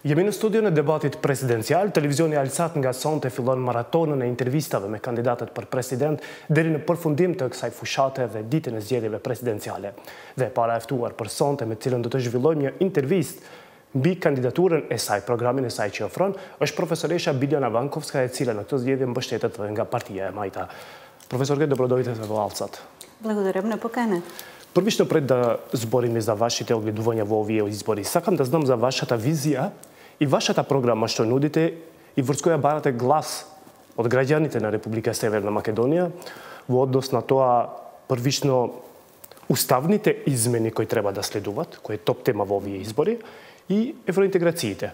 Jemi në studion e debatit presidencial, televizioni Alsat nga sonte fillon maratonën e intervistave me kandidatët për president deri në përfundim të kësaj fushate dhe ditën e zgjedhjeve presidenciale. Dhe para e ftuar për sonte me cilën do të zhvillojmë një intervistë mbi kandidaturën e saj, programin e saj që ofron, është profesoresha Biljana Vankovska, e cila në këtë zgjedhje mbështetet nga partia e Majta. Profesorке, dobrodoјте во Алсат. Благодарам на поканата. Првично пред да збориме за вашите огледувања во овие избори, сакам да знам за вашата визија и вашата програма што нудите и врз која барате глас од граѓаните на Република Северна Македонија во однос на тоа првично уставните измени кои треба да следуват, кој е топ тема во овие избори, и евроинтеграциите.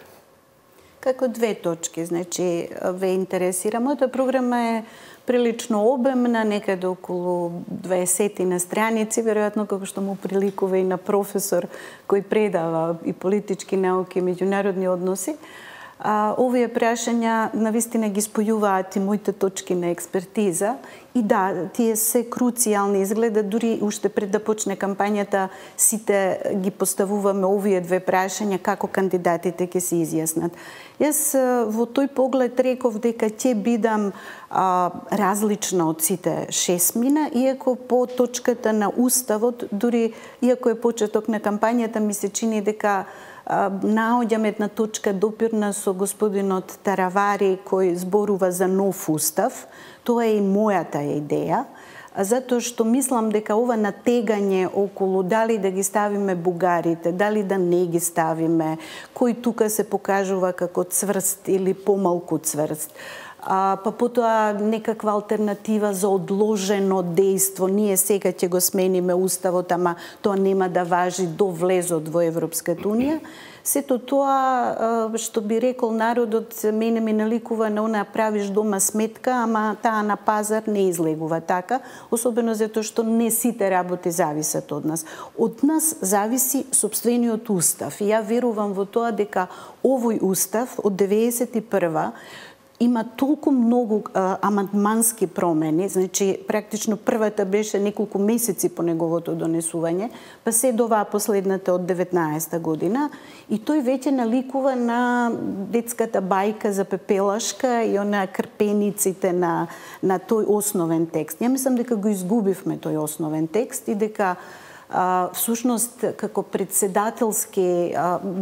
Како две точки, значи ве интересира. Мојата програма е прилично обемна, некаде околу 20 на страници, веројатно како што му приликува и на професор кој предава и политички науки и меѓународни односи. Овие прашања навистина ги спојуваат и моите точки на експертиза. И да, тие се круцијални, изгледа дури уште пред да почне кампањата сите ги поставуваме овие две прашања како кандидатите ќе се изјаснат. Јас во тој поглед реков дека ќе бидам различна од сите 6 мина, иако по точката на уставот, дури иако е почеток на кампањата, ми се чини дека наоѓам една точка допирна со господинот Таравари кој зборува за нов устав. Тоа е и мојата идеја, затоа што мислам дека ова натегање околу дали да ги ставиме бугарите, дали да не ги ставиме, кој тука се покажува како цврст или помалку цврст, па потоа некаква алтернатива за одложено дејство. Ние сега ќе го смениме уставот, ама тоа нема да важи до влезот во Европската унија. Сето тоа, што би рекол народот, мене ми наликува на она правиш дома сметка, ама таа на пазар не излегува така, особено затоа што не сите работи зависат од нас. Од нас зависи сопствениот устав. И ја верувам во тоа дека овој устав од 91 има толку многу амандмански промени, значи практично првата беше неколку месеци по неговото донесување, па се до оваа последната од 19 година, и тој веќе наликува на детската бајка за пепелашка и она крпениците на тој основен текст. Ја мислам дека го изгубивме тој основен текст и дека всушност како председателски,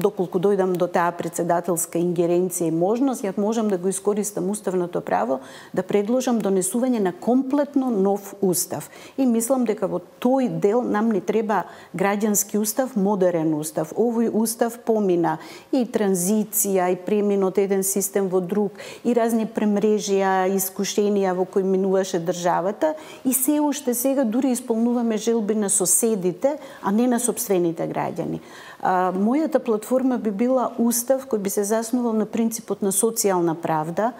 доколку дојдам до таа председателска ингеренција и можност, ја можам да го искористам уставното право да предложам донесување на комплетно нов устав. И мислам дека во тој дел нам ни треба граѓански устав, модерен устав. Овој устав помина и транзиција, и премин од еден систем во друг, и разни премрежија, искушенија во кои минуваше државата, и се уште сега дури исполнуваме желби на соседите, а не на сопствените граѓани. Мојата платформа би била устав кој би се заснувал на принципот на социјална правда.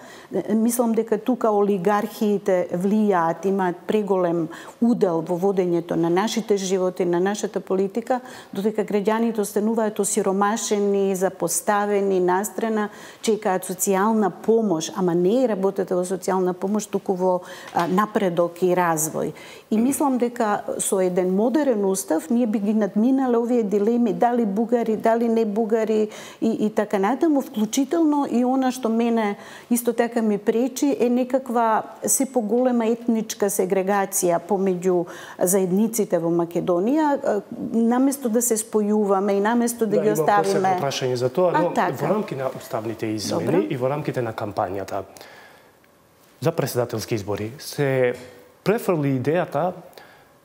Мислам дека тука олигархиите влијаат, имаат преголем удел во водењето на нашите животи, на нашата политика, додека граѓаните остануваат осиромашени, запоставени, настрана, чекаат социјална помош, ама не е работата во социјална помош, туку во напредок и развој. И мислам дека со еден модерен устав ние би ги надминале овие дилеми, дали бугари, дали не бугари и така натаму, вклучително и она што мене исто така ми пречи е некаква се поголема етничка сегрегација помеѓу заедниците во Македонија, наместо да се спојуваме и наместо да ги оставиме. Има посебно прашање за тоа, но во рамки на уставните измени и во рамките на кампањата за председателски избори се префрли идејата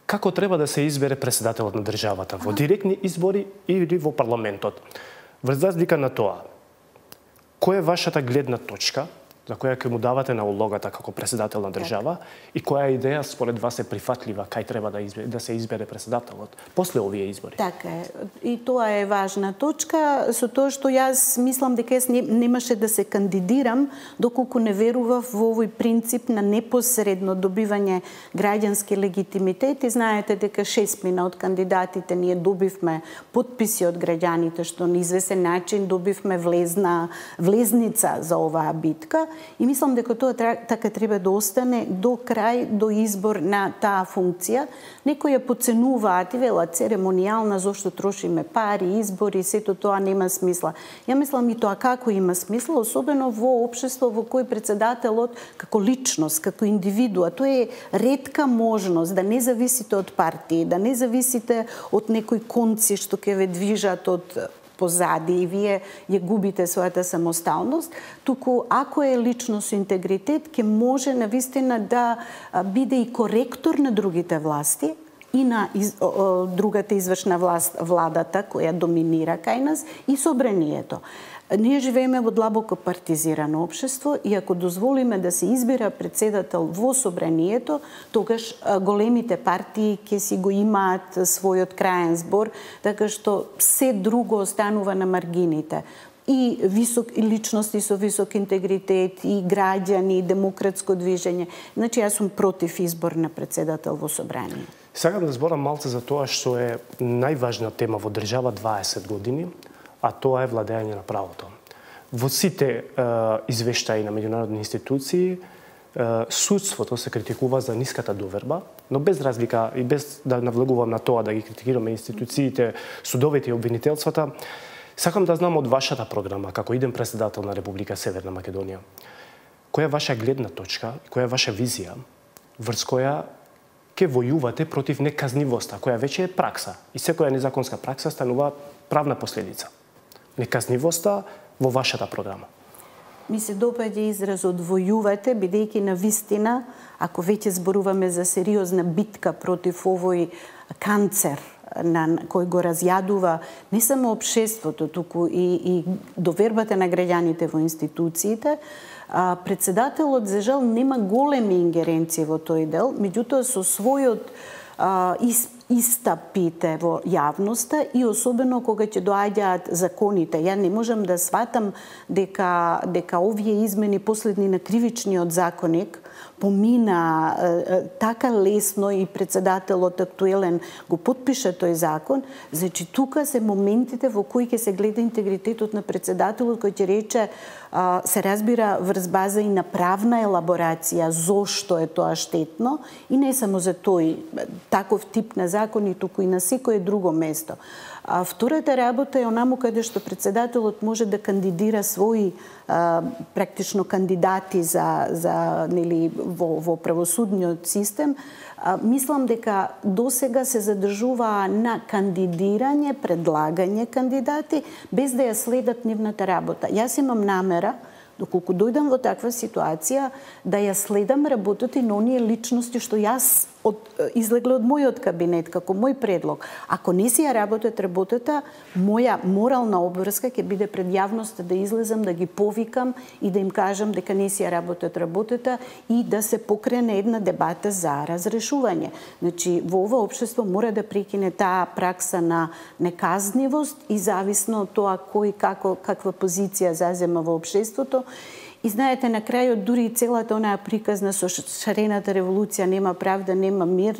како треба да се избере председателот на државата, во директни избори или во парламентот. Врз разлика на тоа, која е вашата гледна точка за која ќе му давате на улогата како председател на држава и која идеја според вас е прифатлива, кај треба да се избере председателот после овие избори? Така е. И тоа е важна точка, со тоа што јас мислам дека јас немаше да се кандидирам доколку не верував во овој принцип на непосредно добивање граѓански легитимитет. И знаете дека 6 мина од кандидатите ние добивме потписи од граѓаните, што на извесен начин добивме влезница за оваа битка. и мислам дека тоа така треба да остане до крај, до избор на таа функција. Некои ја подценуваат и велат церемонијална, зошто трошиме пари, избори, сето тоа нема смисла. Ја мислам и тоа како има смисла, особено во општество во кој председателот како личност, како индивидуа, тоа е ретка можност да не зависите од партии, да не зависите од некои конци што ќе ве движат од позади и вие ја губите својата самосталност, туку ако е личност со интегритет, ќе може навистина да биде и коректор на другите власти и на другата извршна власт, владата, која доминира кај нас, и собранието. Ние живееме во длабоко партизирано општество и ако дозволиме да се избира председател во собранието, тогаш големите партии ќе си го имаат својот краен збор, така што се друго останува на маргините. И личности со висок интегритет, и граѓани, и демократско движење. Значи, јас сум против избор на председател во собрание. Сакам да зборам малце за тоа што е најважна тема во држава 20 години, а тоа е владење на правото. Во сите извештаи на меѓународни институции, судството се критикува за ниската доверба, но без разлика и без да навлегувам на тоа да ги критикираме институциите, судовите и обвинителствата, сакам да знам од вашата програма, како иден председател на Република Северна Македонија, која е ваша гледна точка, која е ваша визија, врз која ќе војувате против неказнивоста, која веќе е пракса. И секоја незаконска пракса станува правна последица. Неказнивоста во вашата програма. Ми се допаѓа изразот војувате, бидејќи на вистина, ако веќе зборуваме за сериозна битка против овој канцер кој го разјадува не само општеството, туку и довербата на граѓаните во институциите, председателот за жал нема големи ингеренции во тој дел, меѓутоа со својот истапите во јавноста и особено кога ќе доаѓаат законите. Ја не можам да сватам дека овие измени последни на кривичниот законник помина така лесно и председателот актуелен го потпиша тој закон. Значи тука се моментите во кои ќе се гледа интегритетот на председателот, кој ќе рече се разбира врз база и на правна елаборација зошто е тоа штетно и не само за тој таков тип на закони, туку и на секое друго место. Втората работа е онаму каде што председателот може да кандидира своји практично кандидати за нели во правосудниот систем. Мислам дека досега се задржува на кандидирање, предлагање кандидати без да ја следат нивната работа. Јас имам намера, доколку дојдам во таква ситуација, да ја следам работата и на оние личности што јас излегле од мојот кабинет како мој предлог. Ако не си ја работат работата, моја морална обврска ќе биде пред јавноста да излезам, да ги повикам и да им кажам дека не си ја работат работата и да се покрене една дебата за разрешување. Значи, во ова општество мора да прекине таа пракса на неказнивост и зависно од тоа кој каква позиција зазема во општеството. И знаете, на крајот дури и целата онаа приказна со шарената револуција нема правда, нема мир,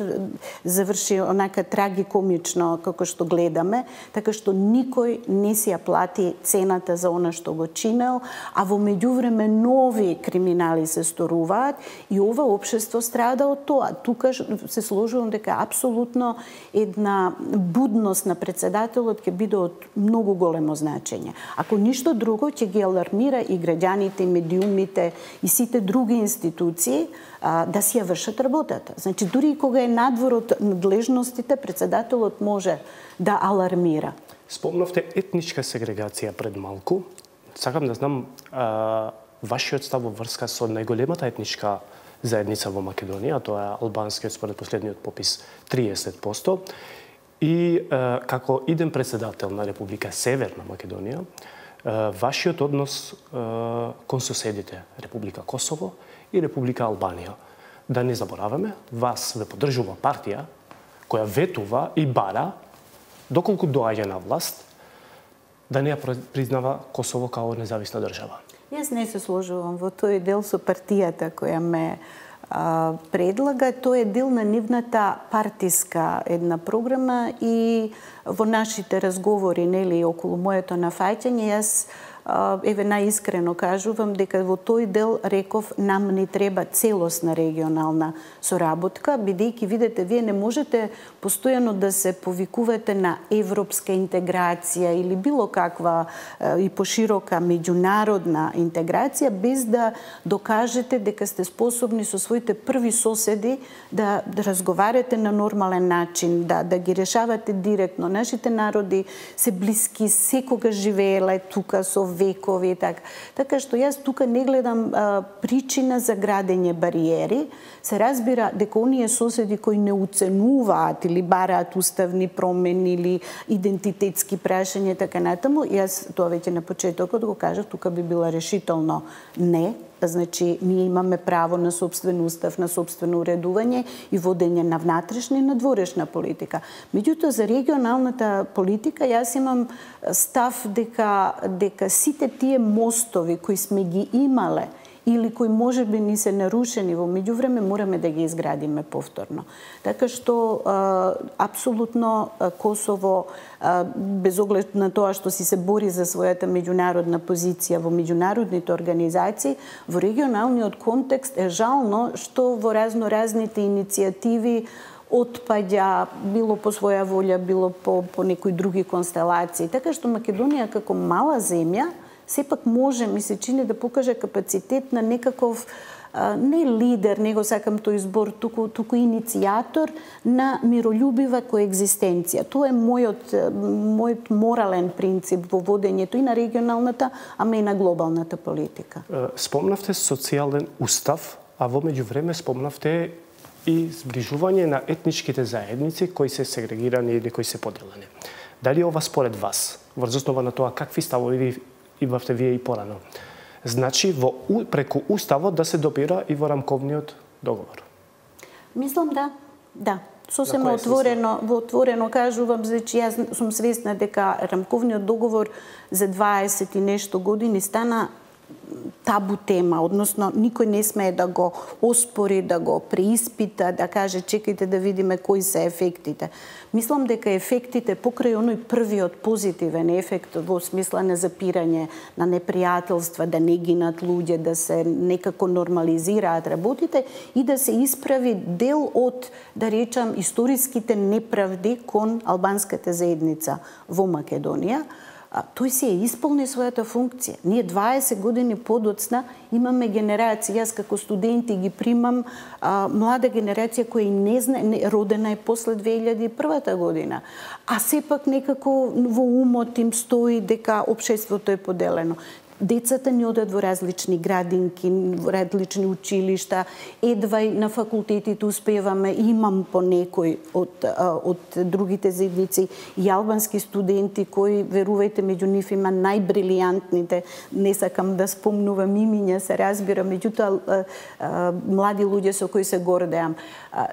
заврши онака трагикомично како што гледаме, така што никој не си ја плати цената за она што го чинел, а во меѓувреме нови криминали се сторуваат и ова општество страда од тоа. Тука се сложувам дека апсолутно една будност на председателот ќе биде од многу големо значење. Ако ништо друго, ќе ги алармира и граѓаните и медиумите и сите други институции да си ја вршат работата. Значи, дури и кога е надвор од надлежностите, председателот може да алармира. Спомнавте етничка сегрегација пред малку. Сакам да знам вашиот став во врска со најголемата етничка заедница во Македонија, тоа е албанскиот според последниот попис 30%. И како иден председател на Република Северна Македонија, вашиот однос кон соседите Република Косово и Република Албанија. Да не забораваме, вас ве поддржува партија која ветува и бара, доколку доаѓа на власт, да не ја признава Косово као независна држава. Јас не се сложувам во тој дел со партијата која ме предлага. Тоа е дел на нивната партиска една програма и во нашите разговори, нели, околу моето нафаќање, јас еве наискрено кажувам дека во тој дел реков нам не треба целосна регионална соработка, бидејќи видите вие не можете постојано да се повикувате на европска интеграција или било каква и поширока меѓународна интеграција без да докажете дека сте способни со своите први соседи да разговарате на нормален начин, да ги решавате директно. Нашите народи се блиски, секогаш живееле тука со векови и така. Така што јас тука не гледам причина за градење бариери. Се разбира дека оние соседи кои не уценуваат или бараат уставни промени или идентитетски прашања така натаму, јас тоа веќе на почетокот го кажав, тука би била решително не. Значи, ние имаме право на собствен устав, на собствено уредување и водење на внатрешна и надворешна политика. Меѓутоа, за регионалната политика, јас имам став дека сите тие мостови кои сме ги имале или кои можеби ни се нарушени во меѓувреме, мораме да ги изградиме повторно. Така што, апсолутно, Косово, без оглед на тоа што си се бори за својата меѓународна позиција во меѓународните организации, во регионалниот контекст е жално што во разноразните иницијативи отпаѓа, било по своја волја, било по некои други констелации. Така што Македонија како мала земја сепак може, ми се чини, да покаже капацитет на некаков не лидер, него сакам тој избор, туку иницијатор на миролюбива коегзистенција. Тоа е мојот морален принцип во водењето и на регионалната, ама и на глобалната политика. Спомнавте социјален устав, а во меѓувреме спомнавте и зближување на етничките заедници кои се сегрегирани или кои се поделени. Дали ова според вас, врз основа на тоа какви ставови имавте вие и порано, значи преку уставот да се допира и во рамковниот договор? Мислам да. Сосема отворено кажувам, значи јас сум свесна дека рамковниот договор за 20 и нешто години стана табу тема, односно никој не смее да го оспори, да го преиспита, да каже чекајте да видиме кои се ефектите. Мислам дека ефектите покрај оној првиот позитивен ефект во смисла на запирање на непријателства, да не гинат луѓе, да се некако нормализираат работите и да се исправи дел од, да речам, историските неправди кон албанската заедница во Македонија, тој се исполни својата функција. Ние 20 години подоцна имаме генерација, јас како студенти ги примам млада генерација која не знае, родена е после 2001 година, а сепак некако во умот им стои дека општеството е поделено. Децата ни одат во различни градинки, во различни училишта, едва и на факултетите успеваме, имам по некој од другите заедници и албански студенти кои, верувајте, меѓу нив има најбрилијантните, не сакам да спомнувам имиња, се разбира, меѓутоа млади луѓе со кои се гордеам.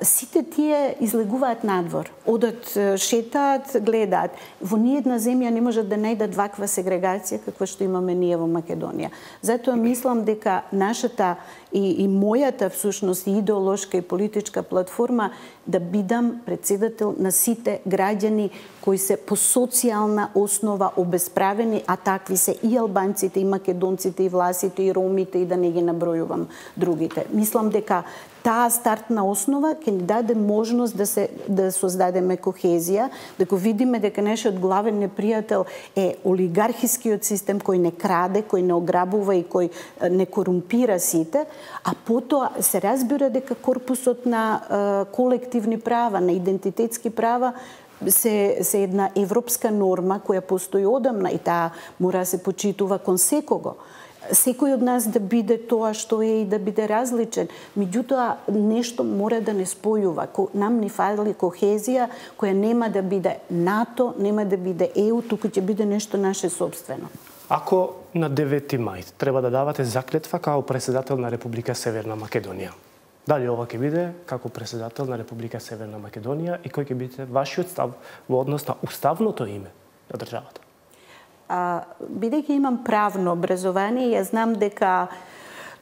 Сите тие излегуваат надвор, одат, шетаат, гледаат. Во ниедна земја не можат да најдат ваква сегрегација каква што имаме ние во Македонија. Затоа мислам дека нашата и мојата всушност идеолошка и политичка платформа да бидам председател на сите граѓани кои се по социјална основа обесправени, а такви се и албанците, и македонците, и власите, и ромите, и да не ги набројувам другите. Мислам дека таа стартна основа ќе ни даде можност да создадеме кохезија, да го видиме дека нашиот главен непријател е олигархискиот систем кој не краде, кој не ограбува и кој не корумпира сите, а потоа се разбира дека корпусот на колективни права, на идентитетски права се една европска норма која постои одамна и таа мора да се почитува кон секого. Секој од нас да биде тоа што е и да биде различен. Меѓутоа, нешто мора да не спојува. Нам ни фали кохезија која нема да биде НАТО, нема да биде ЕУ, туку ќе биде нешто наше собствено. Ако на 9 мај треба да давате заклетва како председател на Република Северна Македонија, дали ова ќе биде како председател на Република Северна Македонија и кој ќе биде вашиот став во однос на уставното име на државата? Бидејќи имам правно образование, ја знам дека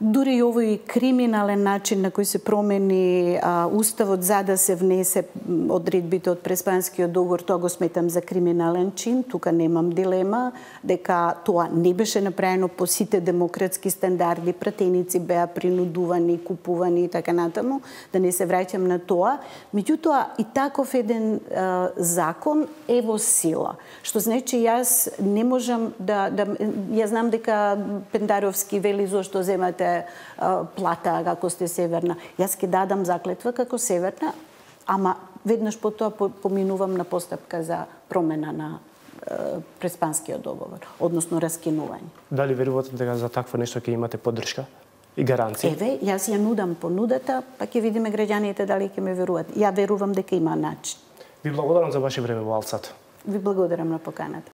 дури и овој криминален начин на кој се промени уставот за да се внесе одредбите од Преспанскиот договор, тоа го сметам за криминален чин. Тука немам дилема дека тоа не беше направено по сите демократски стандарди, пратеници беа принудувани, купувани и така натаму, да не се враќам на тоа. Меѓутоа и таков еден закон е во сила, што значи јас не можам ја знам дека Пендаровски вели зошто земате плата како сте северна. Јас ќе дадам заклетва како северна, ама веднаш по тоа поминувам на постапка за промена на Преспанскиот договор, односно раскинување. Дали верувате дека за такво нешто ќе имате поддршка и гаранција? Еве, јас ја нудам понудата, па ќе видиме граѓаните дали ќе ме веруваат. Ја верувам дека има начин. Ви благодарам за ваше време во Алцат. Ви благодарам на поканата.